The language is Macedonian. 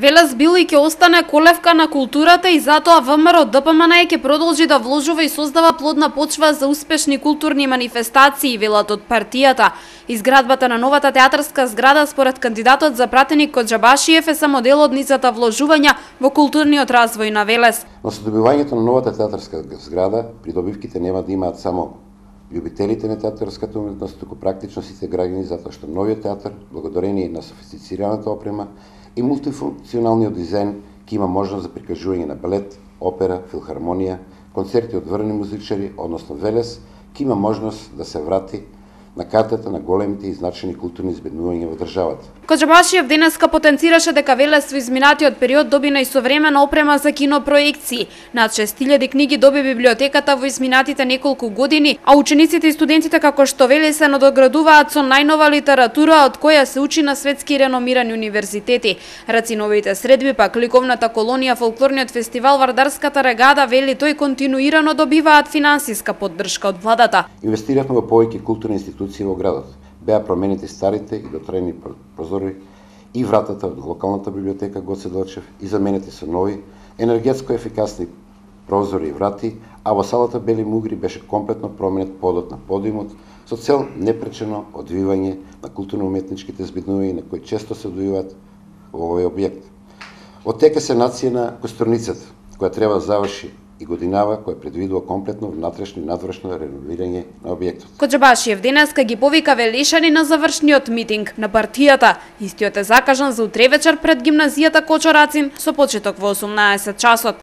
Велес бил и ќе остане колевка на културата и затоа ВМРО ДПМН ќе продолжи да вложува и создава плодна почва за успешни културни манифестации, велат од партијата. Изградбата на новата театарска зграда според кандидатот за пратеник Коџабашиев е само дел од низата вложувања во културниот развој на Велес. Но со добивањето на новата театарска зграда, придобивките нема да имаат само љубителите на театарската уметност, туку практично сите граѓани, затоа што новиот театар, благодарение на софистицираната опрема и мултифункционалниот дизајн, ќе има можност за прикажување на балет, опера, филхармонија, концерти од врвни музичари, односно Велес, ќе има можност да се врати на картата на големите и значени културни избеднувања во државата. Коџабашиев денеска потенцираше дека Велес во изминатиот период добина и современа опрема за кинопроекции. Над 6000 книги доби библиотеката во изминатите неколку години, а учениците и студентите како што вели се надоградуваат со најнова литература од која се учи на светски реномирани универзитети. Рациновите средби пак ликовната колонија, фолклорниот фестивал, Вардарската регада, вели тој континуирано добиваат финансиска поддршка од владата. Инвестиравме во повеќе културни институции во градот. Беа променети старите и дотрајни прозори и вратата од локалната библиотека Гоце Делчев и заменети со нови, енергетско ефикасни прозори и врати, а во салата Бели Мугри беше комплетно променет подот на подиумот со цел непречено одвивање на културно-уметничките збиднувања на кои често се одвиваат во овој објект. Оттека се нација на Костурницата, која треба да заврши и годинава, која предвидува комплетно внатрешно и надворешно реновирање на објектот. Коџабашиев денеска ги повика велешани на завршниот митинг на партијата. Истиот е закажан за утре вечер пред гимназијата Кочо Рацин со почеток во 18 часот.